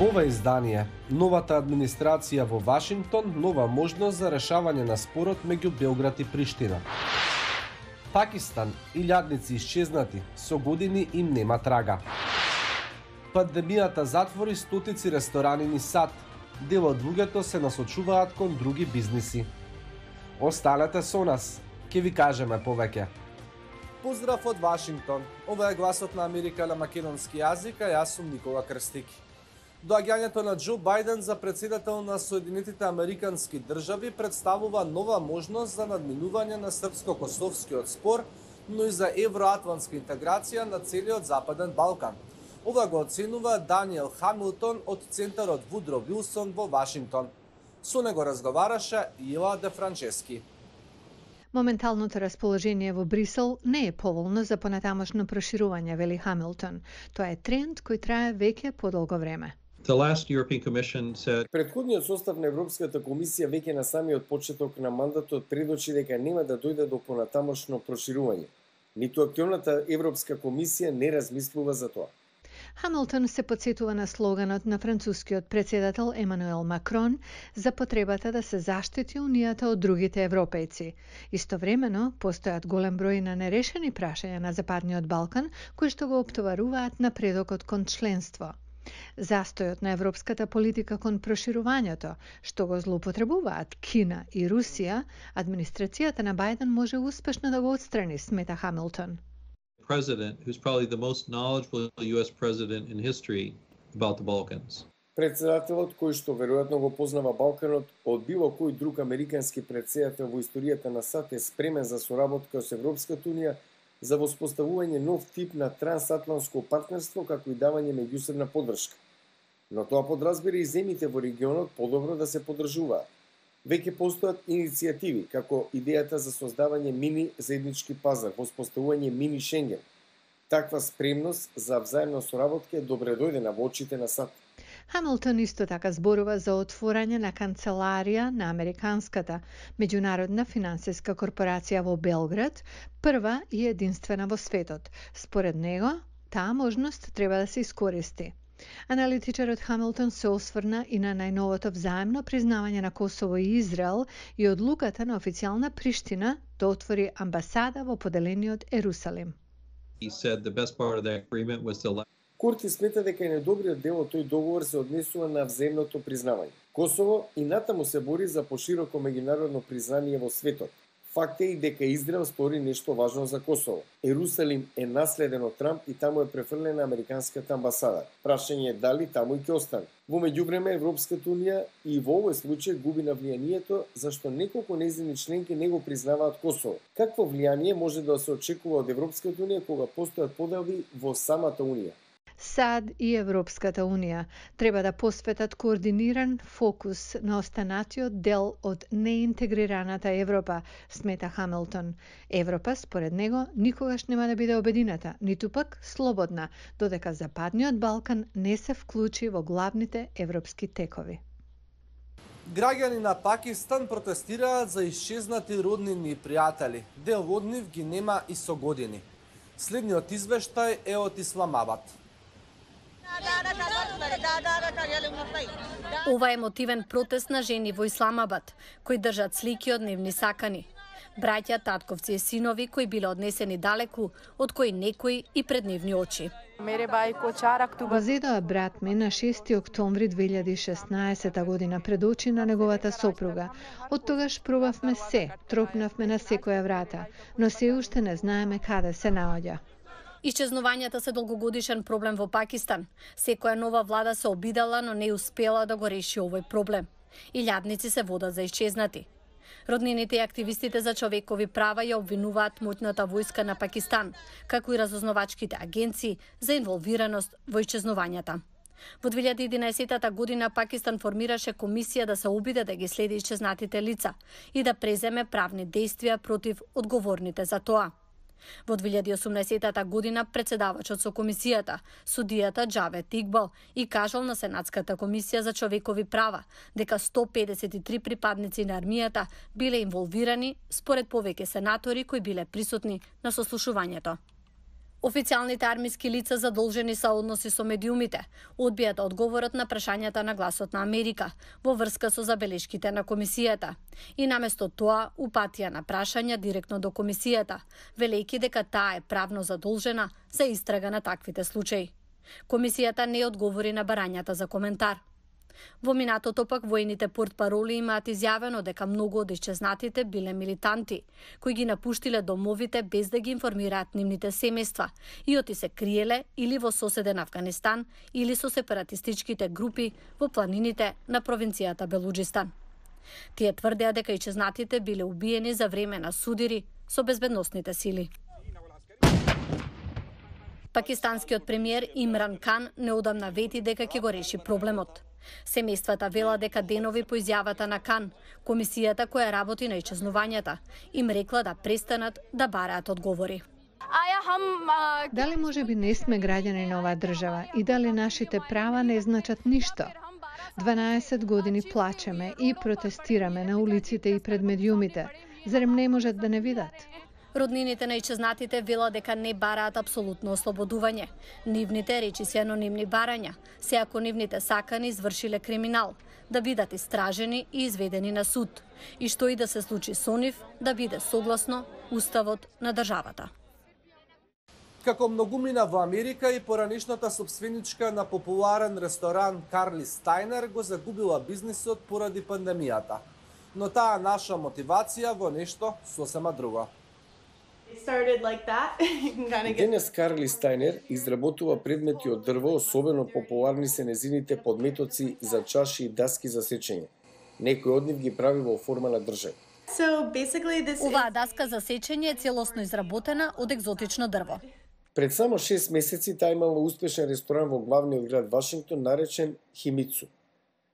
Во ова издание, новата администрација во Вашингтон нова можност за решавање на спорот меѓу Белград и Приштина. Пакистан, илјадници исчезнати, со години им нема трага. Пандемијата затвори стотици ресторани низ САД, дел од луѓето се насочуваат кон други бизниси. Останете со нас, ќе ви кажеме повеќе. Поздрав од Вашингтон. Ова е гласот на Америка на македонски јазик, а јас сум Никола Крстики. Доаѓањето на Џо Бајден за председател на Соединетите Американски држави представува нова можност за надминување на српско-косовскиот спор, но и за евроатлантска интеграција на целиот Западен Балкан. Ова го оценува Даниел Хамилтон од Центарот Вудро Вилсон во Вашингтон. Со него разговараше Ила Де Франчески. Моменталното расположение во Брисел не е поволно за понатамошно проширување, вели Хамилтон. Тоа е тренд кој трае веќе подолго време. Претходниот состав на Европската комисија веќе на самиот почеток на мандатот предочи дека нема да дојде до понатамошно проширување. Ниту актуелната Европска комисија не размислува за тоа. Хамилтон се подсетува на слоганот на францускиот председател Емануел Макрон за потребата да се заштити унијата од другите европејци. Истовремено, постојат голем број на нерешени прашања на Западниот Балкан, кои што го оптоваруваат напредокот кон членство. Застојот на европската политика кон проширувањето, што го злоупотребуваат Кина и Русија, администрацијата на Бајден може успешно да го отстрани, смета Хамилтон. President who's probably the most knowledgeable US president in history about the Balkans. Председателот кој што веројатно го познава Балканот од било кој друг американски председател во историјата на САД е спремен за соработка со Европската унија за воспоставување нов тип на трансатлантско партнерство како и давање меѓусебна поддршка. Но тоа подразбира и земјите во регионот подобро да се поддржуваат. Веќе постојат иницијативи, како идејата за создавање мини заеднички пазар, воспоставување мини Шенген. Таква спремност за взаемна соработка е добре дојдена во очите на САД. Хамилтон исто така зборува за отворање на канцеларија на Американската меѓународна финансиска корпорација во Белград, прва и единствена во светот. Според него, таа можност треба да се искористи. Аналитичарот Хамилтон се осврна и на најновото взаемно признавање на Косово и Израел и одлуката на официјална Приштина да отвори амбасада во поделениот Ерусалим. Курти смета дека најдобриот дел од тој договор се однесува на взаимното признавање. Косово и натаму се бори за пошироко меѓународно признание во светот. Факт е и дека Израел стори нешто важно за Косово. Ерусалим е наследен од Трамп и таму е префрлена американската амбасада. Прашање е дали таму и ќе остане. Во меѓувреме Европската унија и во овој случај губи на влијанието зашто неколку нејзини членки не го признаваат Косово. Какво влијание може да се очекува од Европската унија кога постојат поделби во самата унија? САД и Европската унија треба да посветат координиран фокус на останатиот дел од неинтегрираната Европа, смета Хамилтон. Европа, според него, никогаш нема да биде обедината, ниту пак слободна, додека Западниот Балкан не се вклучи во главните европски текови. Граѓани на Пакистан протестираат за исчезнати роднини и пријатели. Дел од нив ги нема и со години. Следниот извештај е од Исламабад. Ова е мотивен протест на жени во Исламабад, кои држат слики од нивни сакани. Браќа, татковци и синови кои биле однесени далеку, од кои некои и пред нивни очи. Го зедоа брат ми на 6 октомври 2016 година пред очи на неговата сопруга. Од тогаш пробавме се, тропнавме на секоја врата, но се уште не знаеме каде се наоѓа. Исчезнувањата се долгогодишен проблем во Пакистан. Секоја нова влада се обидела, но не успела да го реши овој проблем. Илјадници се водат за исчезнати. Роднините и активистите за човекови права ја обвинуваат моќната војска на Пакистан, како и разузнавачките агенции за инволвираност во исчезнувањата. Во 2011 година Пакистан формираше комисија да се обиде да ги следи исчезнатите лица и да преземе правни действија против одговорните за тоа. Во 2018 година председавачот со комисијата, судијата Џавед Игбал, и кажал на Сенатската комисија за човекови права дека 153 припадници на армијата биле инволвирани според повеќе сенатори кои биле присутни на сослушувањето. Официјалните армиски лица задолжени со односи со медиумите одбија да одговорат на прашањата на Гласот на Америка во врска со забелешките на комисијата. И наместо тоа упатија на прашања директно до комисијата, велејќи дека таа е правно задолжена за истрага на таквите случаи. Комисијата не одговори на барањата за коментар. Во минатото пак воените портпароли имаат изјавено дека многу од исчезнатите биле милитанти, кои ги напуштиле домовите без да ги информираат нивните семејства и оти се криеле или во соседен Авганистан или со сепаратистичките групи во планините на провинцијата Белуџистан. Тие тврдеа дека исчезнатите биле убиени за време на судири со безбедносните сили. Пакистанскиот премиер Имран Кан неодамна вети дека ќе го реши проблемот. Семејствата вела дека денови по изјавата на Кан, комисијата која работи на исчезнувањата, им рекла да престанат да бараат одговори. Дали може би не сме граѓани на оваа држава и дали нашите права не значат ништо? 12 години плачеме и протестираме на улиците и пред медиумите. Зарем не можат да не видат? Роднините на исчезнатите вела дека не бараат апсолутно ослободување. Нивните речиси анонимни барања, се ако нивните сакани извршиле криминал, да бидат истражени и изведени на суд, и што и да се случи со нив, да биде согласно уставот на државата. Како многумина во Америка и поранишната собственичка на популарен ресторан Карли Стајнер го загубила бизнисот поради пандемијата. Но таа наша мотивација во нешто сосема друго. Денес Карли Стајнер изработува предмети од дрво, особено популарни се незините подметоци за чаши и даски за сечење. Некој од нив ги прави во форма на држај. Оваа даска за сечење е целосно изработена од екзотично дрво. Пред само 6 месеци таа имала успешен ресторан во главниот град Вашингтон наречен Химицу.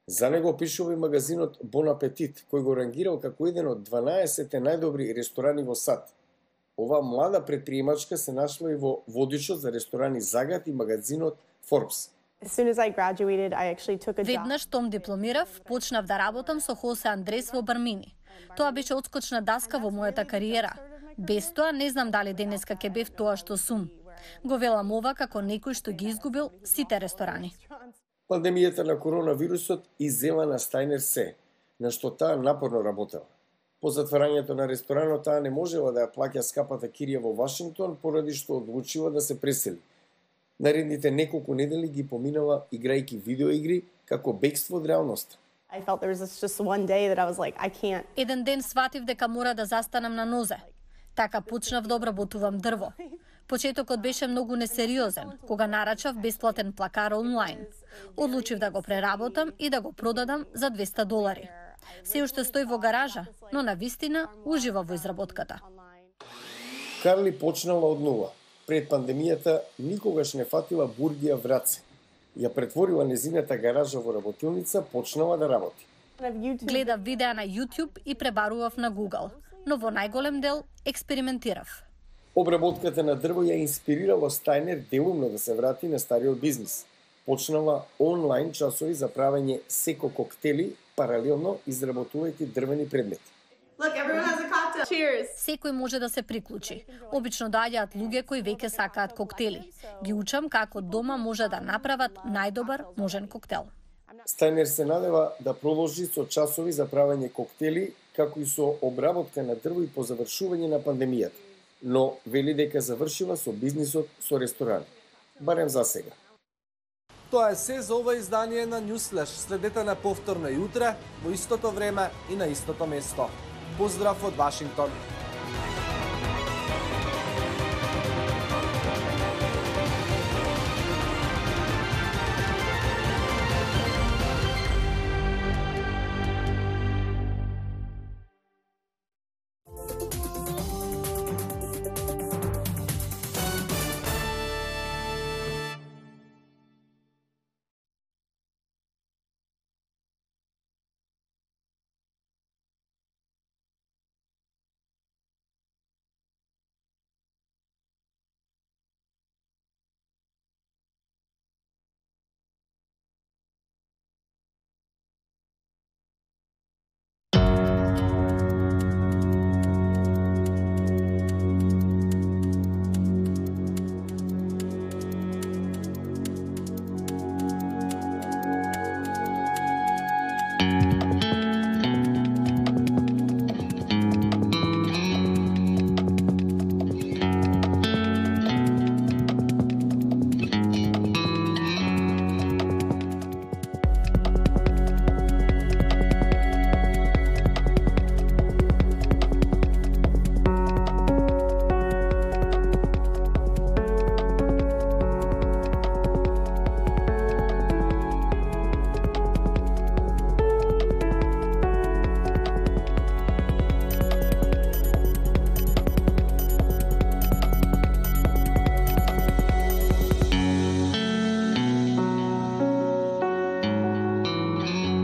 За него пишува и магазинот Bon Appetit, кој го рангирал како еден од 12 најдобри ресторани во САД. Оваа млада предприемачка се нашла и во водичот за ресторани Загат и магазинот Forbes. Веднаш том дипломирав, почнав да работам со Хосе Андрес во Бармини. Тоа беше одскочна даска во мојата кариера. Без тоа не знам дали денеска ќе бев тоа што сум. Го велам ова како некој што ги изгубил сите ресторани. Пандемијата на коронавирусот иззема на Стајнер се, на што таа напорно работела. По затварањето на ресторанот таа не можела да ја плаќа скапата кирија во Вашингтон поради што одлучила да се пресели. Наредните неколку недели ги поминала играјќи видеоигри како бегство од реалноста. Еден ден сватив дека мора да застанам на нозе. Така почнав да обработувам дрво. Почетокот беше многу несериозен, кога нарачав бесплатен плакар онлайн. Одлучив да го преработам и да го продадам за $200. Се уште стои во гаража, но на вистина ужива во изработката. Карли почнала од нула. Пред пандемијата никогаш не фатила бургија враце. Ја претворила незината гаража во работилница, почнала да работи. Гледав видеа на YouTube и пребарував на Google, но во најголем дел експериментирав. Обработката на дрво ја инспирирала Стајнер делумно да се врати на стариот бизнис. Почнала онлайн часови за правење секо коктели, паралелно изработувајќи дрвени предмети. Секој може да се приклучи. Обично доаѓаат луѓе кои веќе сакаат коктели. Ги учам како дома може да направат најдобар можен коктел. Стајнер се надева да продолжи со часови за правење коктели, како и со обработка на дрво и по завршување на пандемијата. Но вели дека завршила со бизнисот со ресторан. Барем за сега. Тоа е се за ова издание на Newsflash. Следете на повторно и утре, во истото време и на истото место. Поздрав од Вашингтон!